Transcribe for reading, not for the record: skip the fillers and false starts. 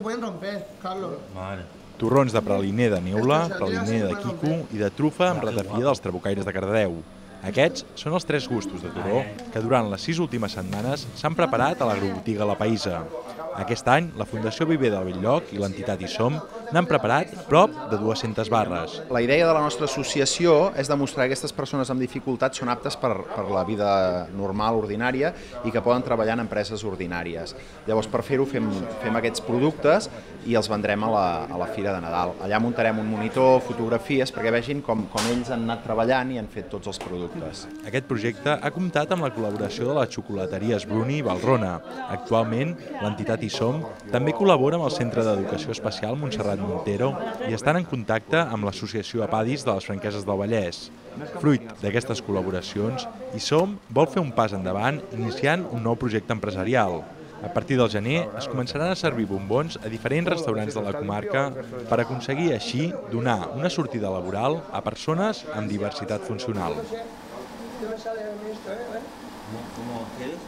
Pueden romper, Carlos. Torrons de praliner de neula, praliner de quico i de trufa amb ratafia dels trabucaires de Cardedeu. Aquests són els 3 gustos de torró que durant les 6 últimes setmanes s'han preparat a l'agrobotiga La Païssa. Aquest any, la Fundació Viver del Bell-lloc i l'entitat Hi Som n'han preparat prop de 200 barres. La idea de la nostra associació és demostrar que aquestes persones amb dificultats són aptes per la vida normal, ordinària, i que poden treballar en empreses ordinàries. Llavors, per fer-ho, fem aquests productes i els vendrem a la Fira de Nadal. Allà muntarem un monitor, fotografies, perquè vegin com ells han anat treballant i han fet tots els productes. Aquest projecte ha comptat amb la col·laboració de les xocolateries Bruni i Valrhona. Actualment, l'entitat Hi Som també col·labora amb el Centre d'Educació Especial Montserrat Montero i estan en contacte amb l'Associació Apadis de les Franqueses del Vallès. Fruit d'aquestes col·laboracions, Hi Som vol fer un pas endavant iniciant un nou projecte empresarial. A partir del gener es començaran a servir bombons a diferents restaurants de la comarca per aconseguir així donar una sortida laboral a persones amb diversitat funcional. ¿Cómo quieres?